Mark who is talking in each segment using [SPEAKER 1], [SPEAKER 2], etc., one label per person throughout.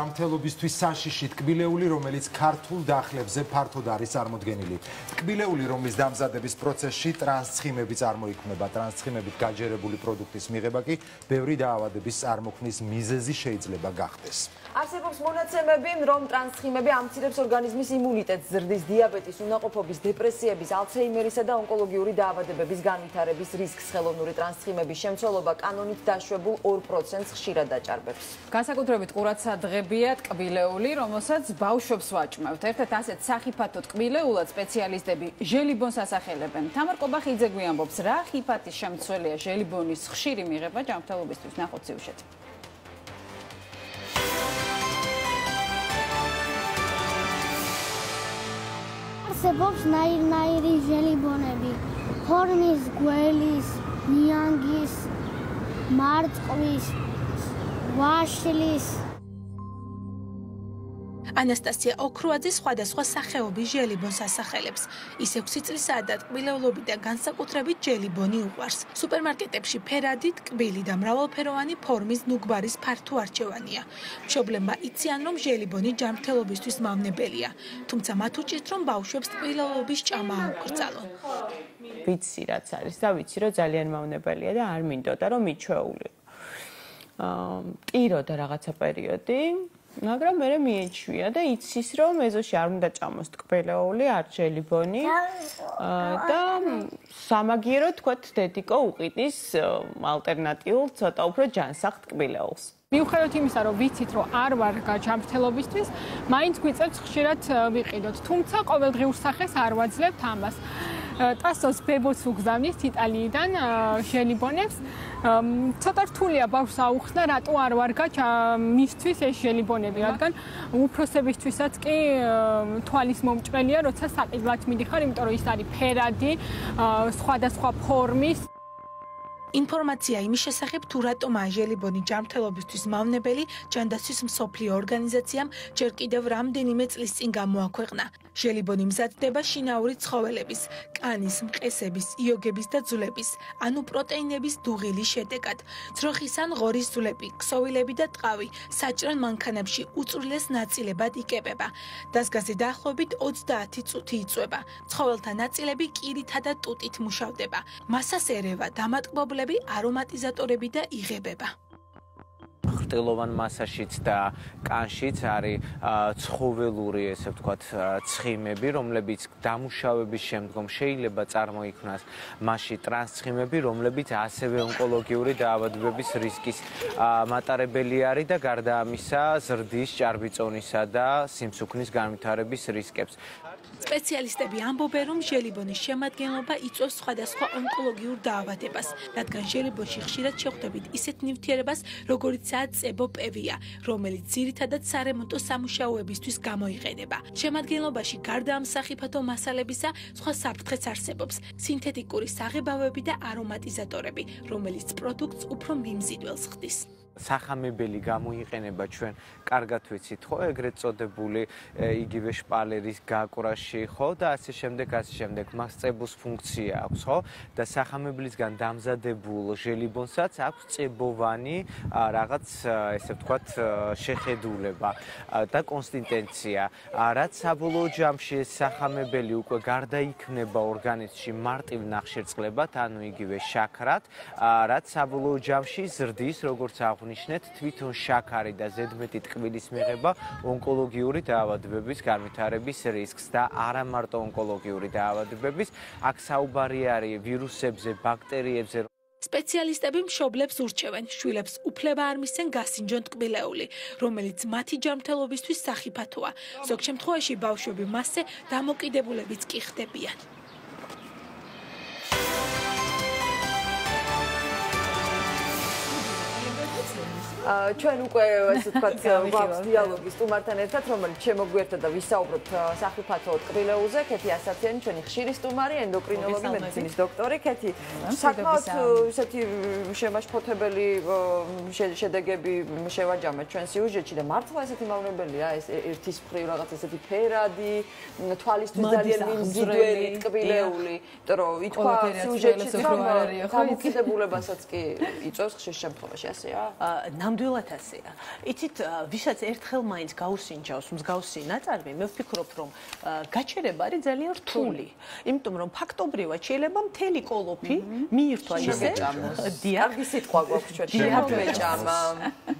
[SPEAKER 1] ჯანმრთელობისთვის საშიში ტკბილეული, რომელიც ქართულ დახლებზე ფართოდ არის წარმოდგენილი. ტკბილეული, რომლის დამზადების პროცესში ტრანსცხიმები წარმოიქმნება, ტრანსცხიმებით გაჯერებული პროდუქტის მიღება კი ბევრი დაავადების წარმოქმნის მიზეზი შეიძლება გახდეს.
[SPEAKER 2] არსებობს მონაცემები, რომ ტრანსცხიმები ამცირებს ორგანიზმის იმუნიტეტს, ზრდის დიაბეტის, უნაყოფობის, დეპრესიების, ალცჰეიმერისა და ონკოლოგიური დაავადებების განვითარების რისკს. ხელოვნური ტრანსცხიმების შემცველობა კანონით დაშვებულ 2%-ს ხშირად დაჭარბებს.
[SPEAKER 3] განსაკუთრებით ყურადსადღებია ტკბილეული, რომელსაც ბავშვებს ვაჭმევთ. ერთ-ერთ ასეთ სახიფათო ტკბილეულად სპეციალისტები ჟელიბონს ასახელებენ. თამარ კობახიძე გვიამბობს, რა ხიფათის შემცველია ჟელიბონის ხშირი მიღება ჯანმრთელობისთვის. ნახოთ სიუჟეტი.
[SPEAKER 4] არსებობს ნაირ-ნაირი ჟელიბონები, ფორმის, გველის, ნიანგის, მარწყვის, ვაშლის.
[SPEAKER 5] ანასტასია ოქროაძე სხვადასხვა სახეობის ჟელიბონს ასახელებს. ის 6 წლისაა და ტკბილეულობიდან განსაკუთრებით ჟელიბონი უყვარს. სუპერმარკეტებში ფერადი, ტკბილი და მრავალფეროვანი ფორმის ნუგბარის ფართო არჩევანია. მშობლებმა იციან, რომ ჟელიბონი ჯანმრთელობისთვის მავნებელია, თუმცა მათ უჭირთ, რომ ბავშვებს ტკბილეულობის ჭამა აუკრძალონ.
[SPEAKER 6] ვიცი რაც არის და ვიცი, რომ ძალიან მავნებელია და არ მინდოდა, რომ მიჩვეულიყო. ტიროდა რაღაცა პერიოდი. მაგრამ მე მიეჩვია და იცის რომ ეზოში არ უნდა ჭამოს ტკბილეული, არ ჟელიბონი და სამაგიეროდ თქვათ დედიკო უყიდის ალტერნატიულ ცოტა უფრო ჯანსაღ ტკბილეულს.
[SPEAKER 7] მიუხედავად იმისა, რომ ვიცით, რომ არ ვარ ჯანმრთელობისთვის, მაინც გვიწევს ხშირად ვიყიდოთ, თუმცა ყოველდღიურ სახეს არ ვაძლევთ ამას. ტასოს ბებოც უგზავნის იტალიიდან ჟელიბონებს. ცოტა რთულია ბავშვს აუხსნა, რატო არ ვარგა მისთვის ეს ჟელიბონები, რადგან უფროსებისთვისაც კი თვალის მომჭრელია, როცა საყიდლად მიდიხარ, იმიტომ რომ ის არის ფერადი, სხვადასხვა ფორმის.
[SPEAKER 5] ინფორმაცია იმის შესახებ, თუ რატომაა ჟელიბონი ჯანმრთელობისთვის მავნებელი, ჯანდაცვის მსოფლიო ორგანიზაციამ ჯერ კიდევ რამდენიმე წლის წინ გამოაქვეყნა. ჟელიბონი მზადდება შინაური ცხოველების, კანის, მყესების, იოგების და ძვლების, ანუ პროტეინების დუღილის შედეგად. ძროხის ან ღორის ძვლები, ქსოვილები და ტყავი საჭრელ მანქანებში უწვრილეს ნაწილებად იკებება. დასგაზი დაახლოებით 30 წუთი იწვება. ცხოველთა ნაწილები კირითა და ტუტით მუშავდება. მასას ერევა დამატკბობლები, არომატიზატორები და იღებება.
[SPEAKER 8] ხრტილოვან მასაშიც და კანშიც არის ცხოველური, ესე ვთქვათ, ცხიმები, რომლებიც დამუშავების შემდგომ შეიძლება წარმოიქმნას მასში ტრანსცხიმები, რომლებიც ასევე ონკოლოგიური დაავადებების რისკის მატარებელი არის და გარდა ამისა, ზრდის, ჭარბიწონისა და სიმსუქნის განვითარების რისკებს.
[SPEAKER 5] სპეციალისტები ამბობენ, რომ ჟელიბონის შემადგენლობა იწვევს სხვადასხვა ონკოლოგიურ დაავადებას, რადგან ჟელიბონში ხშირად შეხვდებით ისეთ ნივთიერებას, როგორიცაა წებოპევია, რომელიც ძირითადად სარემონტო სამუშაოებისთვის გამოიყენება. შემადგენლობაში გარდა ამ სახიფათო მასალებისა, სხვა საფრთხეც არსებობს: სინთეთიკური საღებავები და არომატიზატორები, რომელიც პროდუქტს უფრო მიმზიდველს ხდის.
[SPEAKER 8] სახამებელი გამოიყენება ჩვენ კარგად ვიცით ხო ეგრეთ წოდებული იგივე შპალერის გაკვრაში ხო და ასე შემდეგ მას წებოს ფუნქცია აქვს ხო და სახამებლისგან დამზადებულ ჟელიბონსაც აქვს წებოვანი რაღაც ესე ვთქვათ შეხედულება და კონსისტენცია რაც საბოლოო ჯამში ეს სახამებელი უკვე გარდაიქმნება ორგანიზმში მარტივ ნახშირწყლებად ანუ იგივე შაქრად რაც საბოლოო ჯამში ზრდის როგორც ნიშნეთ თვითონ შაქარი და ზედმეტი ტკბილის მიღება ონკოლოგიური დაავადებების განვითარების რისკს და არა მარტო ონკოლოგიური დაავადებების აქ საუბარი არის ვირუსებზე, ბაქტერიებზე.
[SPEAKER 5] სპეციალისტები მშობლებს ურჩევენ, შვილებს უფლება არ მისცენ გასინჯონ ტკბილეული, რომელიც მათი ჯანმრთელობისთვის სახიფათოა. ზოგ შემთხვევაში ბავშვები მასზე დამოკიდებულებიც კი ხდებიან.
[SPEAKER 2] ჩვენ უკვე ასე ვთქვათ გვაქვს დიალოგი სტუმართან ერთად, რომელიც შემოგვიერთდა და ვისაუბროთ სახიფათო ტკბილეულზე. ქეთი ასათიანი, ჩვენი ხშირი სტუმარი, ენდოკრინოლოგი, მედიცინის დოქტორი. ქეთი, საკმაოდ ისეთი შემაშფოთებელი შედეგები შევაჯამეთ ჩვენ სიუჟეტში და მართლა ესეთი მავნებელია ეს ერთის მხრივ რაღაც ესეთი ფერადი, თვალისთვის ძალიან მიმზიდველი ტკბილეული, იმიტომ რომ ითქვა სიუჟეტში რომ დამოკიდებულებასაც კი იწვევს ხშირ შემთხვევაში, ასეა?
[SPEAKER 9] ნამდვილად ასეა. იცით, ვისაც ერთხელ მაინც გაუსინჯავს მსგავსი ნაწარმი, მე ვფიქრობ, რომ გაჩერება არის ძალიან რთული. იმიტომ რომ ფაქტობრივად შეიძლება მთელი კოლოფი მიირთვა ისე. დიახ,
[SPEAKER 2] კარგი სიტყვა გვაქვს ჩვენ. შემოგვეჭამა.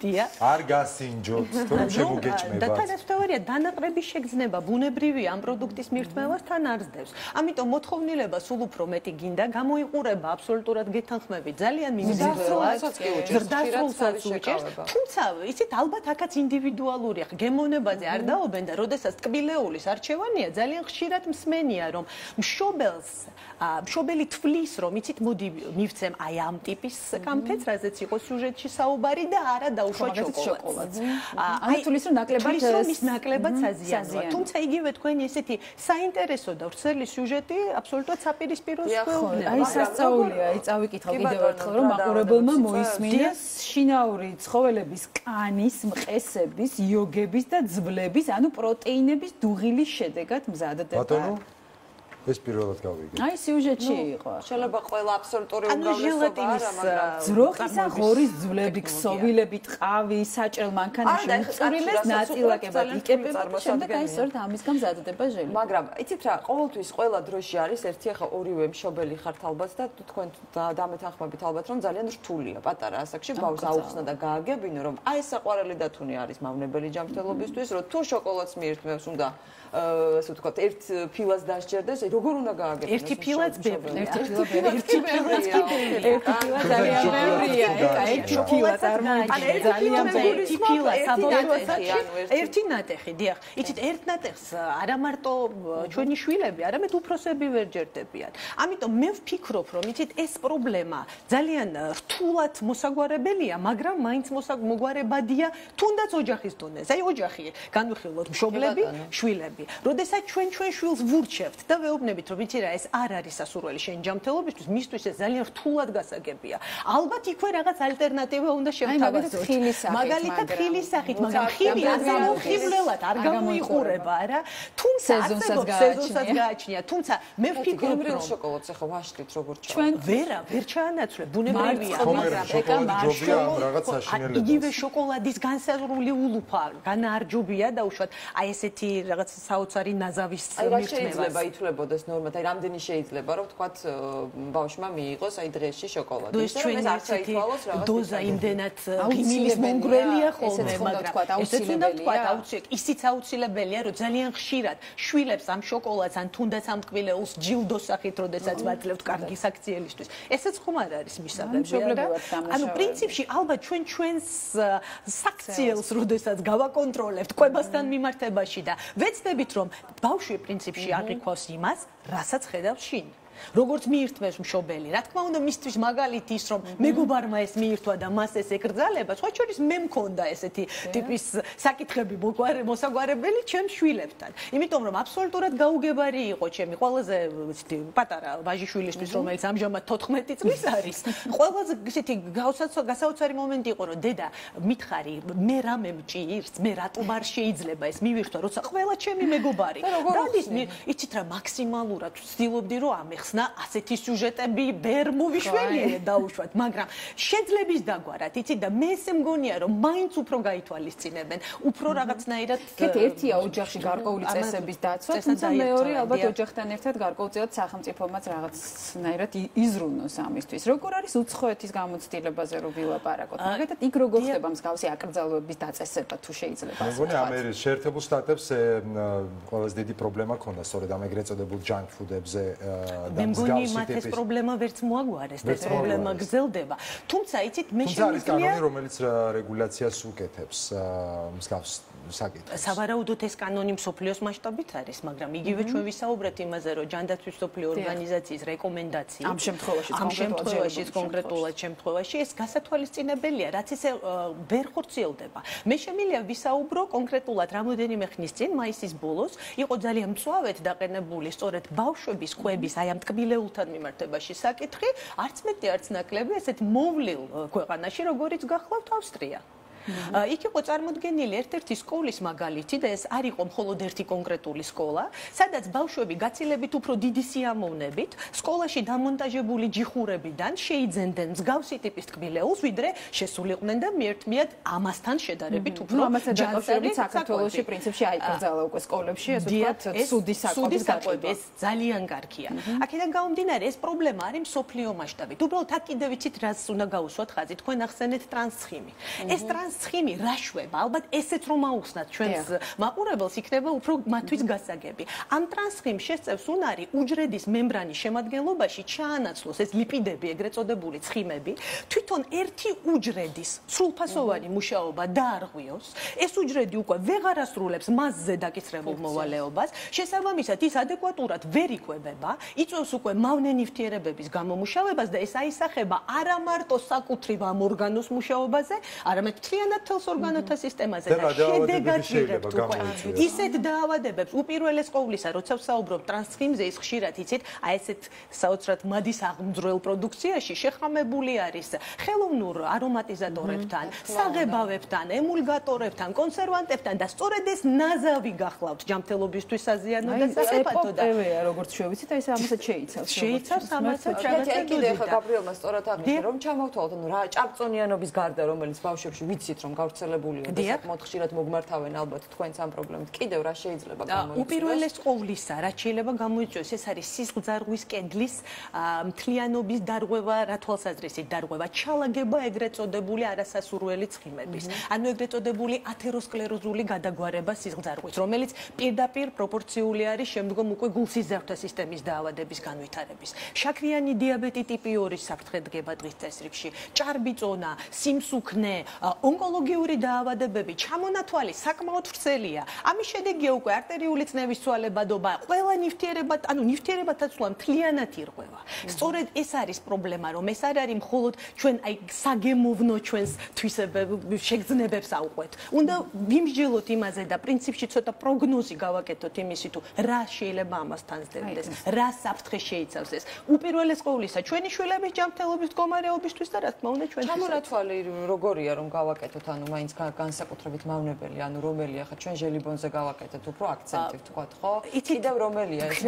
[SPEAKER 9] დიახ.
[SPEAKER 1] არ გასინჯოთ, თორემ შემოგეჭმება.
[SPEAKER 9] და თანასწორია, დანაყრების შეგრძნება ბუნებრივი ამ პროდუქტის მირთმევას თან არსდევს. ამიტომ მოთხოვნილება სულ უფრო მეტი გინდა, გამოიყურება აბსოლუტურად გეთანხმებით. ძალიან მინიმალურად. ზრდასრულსაც უჭერს. თუმცა, იცით, ალბათ აქაც ინდივიდუალურია. გემოვნებაზე არ დაობენ და როდესაც ტკბილეულის არჩევანია, ძალიან ხშირად მსმენია, რომ მშობელი თვლის, რომ იცით, მოდი მივცემ აი ამ ტიპის კამფეტს, რაზეც იყო სიუჟეტში საუბარი და არა დაუშვა შოკოლადს.
[SPEAKER 3] აი თulis რომ
[SPEAKER 9] ნაკლებად საზიანოა. თუმცა იგივე თქვენი ესეთი საინტერესო და ვრცელი სიუჟეტი აბსოლუტურად საპირისპიროს
[SPEAKER 3] ხდება. აი სასწაულია, აი წავიკითხავ კიდევ ერთხელ რომ მაყურებელმა მოისმინეს შინაური ცხოველების კანის, მყესების, იოგების და ძვლების, ანუ პროტეინების დუღილის შედეგად მზადდება.
[SPEAKER 1] ბატონო ეს პირველად გავიგე.
[SPEAKER 3] აი სიუჟეტში იყო.
[SPEAKER 2] შეიძლება ყველა აბსოლუტური უმრავლესობა არა, მაგრამ
[SPEAKER 3] ძროხის ან ღორის ძვლები, ქსოვილები, ტყავი, საჭრელ მანქანაში მწვრილეს ნაწილაკებად იყებება და შემდეგ აი სწორედ ამის გამზადდება ჟელი.
[SPEAKER 2] მაგრამ იცით რა, ყოველთვის ყველა დროში არის ერთი ახლა ორივე მშობელი ხართ ალბათ და თქვენ დამეთანხმებით ალბათ რომ ძალიან რთულია პატარა ასაკში ბავშვს აუხსნა და გააგებინო რომ აი საყვარელი დათუნი არის მავნებელი ჯანმრთელობისთვის, რომ თუ შოკოლადს მიირთმევს უნდა ასე ვთქვათ, ერთ ფილას დასჯერდეს, როგორ უნდა გააგებინოს?
[SPEAKER 9] ერთი ფილაც ბევრია.
[SPEAKER 3] ერთი ფილა ძალიან ბევრია. ერთი ფილა წარმოიდგინე ძალიან
[SPEAKER 9] ერთი ფილა საბოლოოში ერთი ნატეხი, დიახ. იცით, ერთ ნატეხს არა მარტო ჩვენი შვილები, არამედ უფროსები ვერ ჯერდებიან. ამიტომ მე ვფიქრობ, რომ იცით, ეს პრობლემა ძალიან რთულად მოსაგვარებელია, მაგრამ მაინც მოგვარებადია თუნდაც ოჯახის დონეზე. აი ოჯახი, განვიხილოთ მშობლები, შვილები. როდესაც ჩვენ შვილს ვურჩევთ და ვეუბნებით, რომ იცი რა, ეს არ არის სასურველი შენი ჯანმრთელობისთვის, მისთვის ეს ძალიან რთულად გასაგებია. ალბათ იქვე რაღაც ალტერნატივა უნდა შევთავაზოთ. მაგალითად ხილის სახით, მაგრამ ხილი ამხივლელად არ გამოიყურება, რა. თუმცა სეზონსაც გააჩნია. თუმცა მე ვფიქრობ, რომ
[SPEAKER 2] შოკოლადს ახლა ვაშლით როგორ ჩავ.
[SPEAKER 3] ჩვენ
[SPEAKER 9] ვერ ჩაანაცვლებ, ბუნებრივია, მაგრამ
[SPEAKER 1] ეკა მარშრუტი
[SPEAKER 9] იგივე შოკოლადის განსაზღვრული ულუფა, განარჯობია და უშუალოდ აი ესეთი რაღაც საოცარი ნაზავის მირთმევას.
[SPEAKER 2] შეიძლება ითვლებოდეს ნორმად, აი რამდენი შეიძლება რომ თქვათ ბავშვმა მიიღოს აი დღეში შოკოლადი.
[SPEAKER 9] ეს ჩვენი არცითვალოს რაღაც დოზა იმდენად ქიმიის მონგრელია ხოლმე, მაგრამ ესეც უნდა თქვათ აუცილებლად. ისიც აუცილებელია, რომ ძალიან ხშირად შვილებს ამ შოკოლადს ან თუნდაც ამ ტკბილეულს ჯილდოს სახით, როდესაც ვაძლევთ კარგი საქციელისთვის. ესეც ხომ არ არის მისაღებია. ანუ პრინციპში ალბათ ჩვენს საქციელს, როდესაც გავაკონტროლებთ კვებასთან მიმართებაში და ვეცდებით, რომ ბავშვი პრინციპში აღიქვას იმას, რასაც ხედავს შინ. როგორც მიირთმევს მშობელი. რა თქმა უნდა, მისთვის მაგალითი ის, რომ მეგობარმა ეს მიირთვა და მას ეს ეკრძალება, სხვა შორის მე მქონდა ესეთი ტიპის საკითხები მოსაგვარებელი ჩემს შვილებთან. იმიტომ რომ აბსოლუტურად გაუგებარი იყო ჩემი ყველაზე პატარა ვაჟიშვილისთვის, რომელიც ამჟამად 14 წლის არის. ყველაზე ესეთი გასაოცარი მომენტი იყო, რომ დედა მითხარი, მე რამე მჭირს, მე რატომ არ შეიძლება ეს მივირთვა, როცა ყველა ჩემი მეგობარი. დადის, იცით რა, მაქსიმალურად ვცდილობდი, რომ ამეხსნა ასეთი სიუჟეტები ვერ მოვიშველიე დაუშვათ, მაგრამ შეძლების დაგვარად, იცით და მე ესე მგონია, რომ მაინც უფრო გაითვალისწინებენ, უფრო რაღაცნაირად
[SPEAKER 3] ერთია ოჯახში გარკვეული წესების დაცვა, თუმცა მეორე ალბათ ოჯახთან ერთად გარკვეულწილად სახელმწიფომაც რაღაცნაირად იზრუნოს ამისთვის. როგორ არის უცხოეთის გამოცდილებაზე რომ ვილაპარაკოთ? მაგალითად, იქ როგორ ხდება მსგავსი აკრძალვების დაწესება თუ შეიძლება?
[SPEAKER 1] მე მგონი ამერიკის შეერთებულ შტატებს ყველაზე დიდი პრობლემა ქონდა სწორედ ამ ეგრეთ წოდებულ junk food-ებზე
[SPEAKER 9] მე მგონი მათ ეს პრობლემა ვერც მოაგვარეს და ეს პრობლემა გრძელდება. თუმცა იცით მე
[SPEAKER 1] შემიძლია არის კანონი რომელიც რეგულაციას უკეთებს მსგავს საკითხს.
[SPEAKER 9] სავარაუდოდ ეს კანონი მსოფლიოს მასშტაბით არის, მაგრამ იგივე ჩვენ ვისაუბრეთ იმაზე, რომ ჯანდაცვის მსოფლიო ორგანიზაციის რეკომენდაცია
[SPEAKER 3] ამ შემთხვევაში
[SPEAKER 9] კონკრეტულად შემთხვევაში ეს გასათვალისწინებელია, რაც ისე ვერ ხორციელდება. მე შემიძლია ვისაუბრო კონკრეტულად რამოდენიმე ხნის წინ, მაისის ბოლოს, იყო ძალიან მწვავედ დაყენებული სწორედ ბავშვების კვების აი ამ ტკბილეულთან მიმართებაში საკითხი, არც მეტი არც ნაკლები, ესეთ მოვლილ ქვეყანაში, როგორიც გახლავთ ავსტრია. იქ იყო წარმოდგენილი ერთ-ერთი სკოლის მაგალითი და ეს არ იყო მხოლოდ ერთი კონკრეტული სკოლა, სადაც ბავშვები გაცილებით უფრო დიდი სიამოვნებით სკოლაში დამონტაჟებული ჯიხურებიდან შეიძენდნენ მსგავსი ტიპის ტკბილეულს, ვიდრე შესულიყვნენ და მიერთმიათ ამასთან შედარებით უფრო
[SPEAKER 3] ჯანმრთელი საქართველოში პრინციპში აიკრძალა უკვე სკოლებში, ეს ვთქვათ, ცუდი საკვების გაყვება.
[SPEAKER 9] ეს ძალიან კარგია. აქედან გამომდინარე, ეს პრობლემა არის მსოფლიო მასშტაბით. უბრალოდ აქ კიდევ ვიცით, რას უნდა გაუსვათ ხაზი, თქვენ ახსენეთ ტრანსცხიმი. ეს ტრანსცხიმი რა შვება? ალბათ ესეც რომ აუხსნათ ჩვენს მაყურებელს, იქნება უფრო მათთვის გასაგები. ამ ტრანსცხიმს შესწევს უნარი უჯრედის მემბრანის შემადგენლობაში ჩაანაცვლოს ეს ლიპიდები, ეგრეთ წოდებული ცხიმები, თვითონ ერთი უჯრედის სრულფასოვანი მუშაობა დაარღვიოს. ეს უჯრედი უკვე ვეღარ ასრულებს მასზე დაკისრებულ მოვალეობას, შესაბამისად ის ადეკვატურად ვერ იკვებება, იწვევს უკვე მავნე ნივთიერებების გამომუშავებას და ეს აისახება არა მარტო საკუთრივ ამ ორგანოს მუშაობაზე, არამედ მთლიანად თელს ორგანოთა სისტემაზე და შედეგად ვიღებთ უკვე ისეთ დაავადებებს, უპირველეს ყოვლისა, როცა ვსაუბრობ ტრანსცხიმზე, ის ხშირად იცით, აი ესეთ საოცრად მადის აღმძვრელ პროდუქციაში შეხამებული არის ხელოვნურ არომატიზატორებთან, საღებავებთან, ემულგატორებთან, კონსერვანტებთან და სწორედ ეს ნაზავი გახლავთ ჯანმრთელობისთვის საზიანო და საფათო და
[SPEAKER 3] როგორც შევიცით, აი ეს ამასაც შეიცავს.
[SPEAKER 9] შეიცავს ამასაც.
[SPEAKER 2] კიდევ ხა გაბრიელმა სწორად აღნიშნა, რომ ჩამოვთვალოთ, ანუ რა ჭარბწონიანობის გარდა, რომელიც ბავშვებში ვიცით, რომ გავრცელებულია და საკმაოდ ხშირად მოგმართავენ ალბათ თქვენს ამ პრობლემით. კიდევ რა შეიძლება გამოიწვიოს?
[SPEAKER 9] უპირველეს ყოვლისა, რაც შეიძლება გამოიწვიოს, ეს არის სისხლძარღვის კედლის მთლიანობის დარღვევა, რა თვალსაზრისით დარღვევა, ჩალაგება ეგრეთ წოდებული არასასურველი ცხიმების. ანუ ეგრეთ წოდებული ათეროსკლეროზული გადაგვარება სისხლძარღვის, რომელიც პირდაპირ პროპორციული არის შემდგომ უკვე გულსიზარდთა სისტემის დაავადების განვითარების. შაქრიანი დიაბეტი ტიპი 2-ის საფრთხე დგება დღის წესრიგში, ჭარბი წონა, სიმსუქნე, ონკოლოგიური დაავადებები, ჩამონათვალი საკმაოდ ვრცელია. ამის შედეგია უკვე არტერიული წნევის ცვალებადობა, ყველა ნივთიერებად, ანუ ნივთიერებათა ცვლა მთლიანად ირღვევა. სწორედ ეს არის პრობლემა, რომ ეს არ არის მხოლოდ ჩვენ აი საგემოვნო ჩვენს შეგრძნებებს ავყვეთ. უნდა ვიმსჯელოთ იმაზე და პრინციპში ცოტა პროგნოზი გავაკეთოთ იმისი თუ რა შეიძლება ამასთან ზრდებდეს, რა საფრთხე შეიცავს ეს. უპირველეს ყოვლისა, ჩვენი შვილების ჯანმრთელობის მდგომარეობისთვის და რა თქმა უნდა ჩვენთვის.
[SPEAKER 2] ჩამონათვალი როგორია რომ გავაკეთოთ, ანუ მაინც განსაკუთრებით მავნებელი, ანუ რომელია ხა ჩვენ ჟელიბონზე გავაკეთეთ უფრო აქცენტი ვთქვათ, ხო? კიდევ რომელია ეს?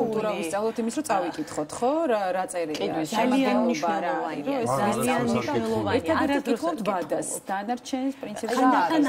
[SPEAKER 3] კულტურა ვისწავლოთ იმის, რომ წავიკითხოთ, ხო? რა წერილია?
[SPEAKER 9] ძალიან მნიშვნელოვანია. ძალიან მნიშვნელოვანია.
[SPEAKER 3] ერთადერთი კითხოთ ბადას, დანარჩენის პრინციპი რა არის?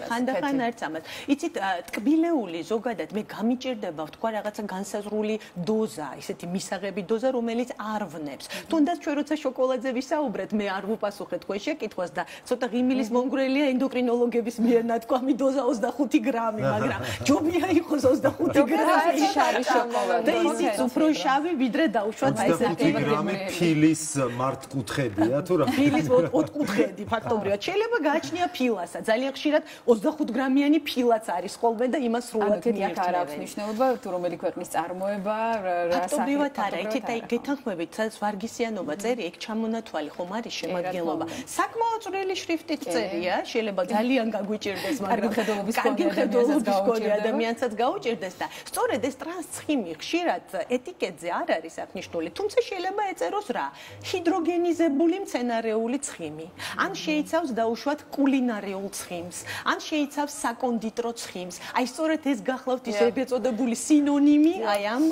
[SPEAKER 9] ხანდახან არც ამას. იცით, ტკბილეული ზოგადად მე გამიჭირდება ვთქვა რაღაცა განსაზღვრული დოზა, ისეთი მისაღები დოზა, რომელიც არ ვნებს. თუნდაც ჩვენ როცა შოკოლადზე ვისაუბრეთ, მე არ ვუპასუხეთ თქვენ შეკითხვას და ცოტა ღიმილის მომგვრელია ენდოკრინოლოგების მიერ ნათქვამი დოზა 25 გრამი, მაგრამ ჯობია იყოს 25 გრამი შარი შოკოლადი. და ისიც უფრო შავი, ვიდრე დაუშვათ აი ეს
[SPEAKER 1] 25 გრამი ფილის მართკუთხედია თუ რა?
[SPEAKER 9] ფილის ოთხკუთხედი ფაქტობრივად. შეიძლება გააჩნია ფილასა. ძალიან ხშირად 25 გრამიანი ფილაც არის ხოლმე და იმას სრულად
[SPEAKER 3] მიერთებენ. არ აქვს მნიშვნელობა თუ რომელი ქვეყნის წარმოება, რა
[SPEAKER 9] ფაქტობრივად არა. იქით აი გეთანხმებით, სადაც ვარგისიანობა წერი, იქ ჩამონათვალი ხომ არის შემადგენლობა. საკმაოდ წვრილი შრიფტით წერია, შეიძლება ძალიან გაგვიჭირდეს, მაგრამ კარგი მხედველობის მქონე ადამიანსაც გაუჭირდეს და სწორედ ეს ტრანსცხიმი ხშირად ეტიკეტზე არ არის აღნიშნული, თუმცა შეიძლება ეწეროს რა? ჰიდროგენიზებული მცენარეული ცხიმი. ან შეიცავს დაუშვათ კულინარიულ ცხიმს, ან შეიცავს საკონდიტრო ცხიმს. აი სწორედ ეს გახლავთ ის ეგრეთ წოდებული სინონიმი აი ამ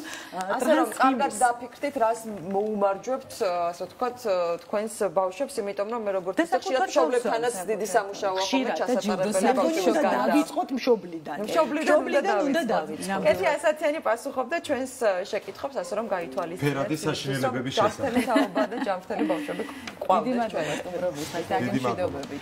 [SPEAKER 2] ტრანსცხიმის. კარგად დაფიქრდით, რას მოუმარჯვებთ, ასე ვთქვათ, თქვენს ბავშვებს, იმიტომ რომ მე როგორც ხშირად მშობლებთანაც დიდი სამუშაოა ხოლმე ჩასატარებელი ბავშვებს გარდა.
[SPEAKER 9] დავიწყოთ მშობლიდან.
[SPEAKER 2] მშობლიდან უნდა დავიწყოთ. კეთი ასათიანი პასუხობდა ჩვენს შეკითხვებს, ასე რომ გაითვალისწინეთ.
[SPEAKER 1] ფერადი საშინელებების შესახებ.
[SPEAKER 2] ჯანმრთელი თაობა და ჯანმრთელი ბავშვები ყვავდეს ჩვენ.
[SPEAKER 3] დიდი მადლობა სტუმრობისთვის, დაგემშვიდობებით.